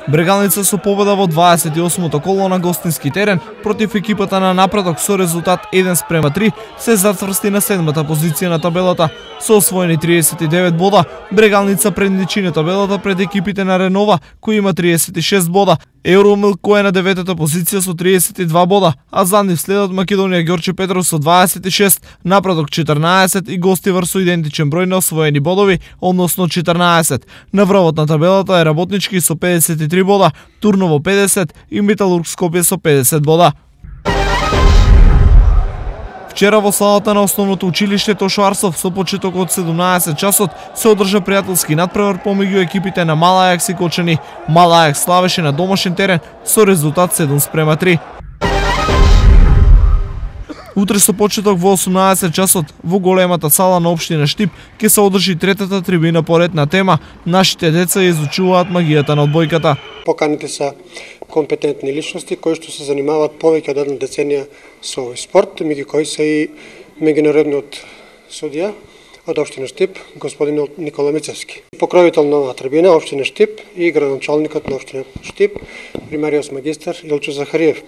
Брегалница со победа во 28-то коло на гостински терен против екипата на Напредок со резултат 1:3 се затврсти на 7-та позиција на табелата. Со освоени 39 бода, Брегалница предничи на табелата пред екипите на Ренова, кои има 36 бода. Евромилк кој е на 9-та позиција со 32 бода, а за нив следат Македонија Ѓорче Петров со 26, Напредок 14 и Гостивар со идентичен број на освоени бодови, односно 14. На врвот на табелата е Работнички со 53 бода, Турново 50 и Металург Скопје со 50 бода. Вчера во салата на основното училиште Тошо Арсов со почеток од 17 часот се одржа пријателски надпревар помеѓу екипите на Мал Ајакс и Кочани. Мал Ајакс славеше на домашен терен со резултат 7:3. Утре со почеток во 18 часот во големата сала на општина Штип ќе се одржи третата трибина по ред на тема "Нашите деца изучуваат магијата на одбојката". Поканите се компетентни личности кои што се занимаваат повеќе од една деценија со овој спорт, меѓу кои се и меѓународниот судија од општина Штип, господин Никола Мицевски. Покровител на оваа трибина општина Штип и градоначалникот на општина Штип, примариус магистар Илчо Захариев.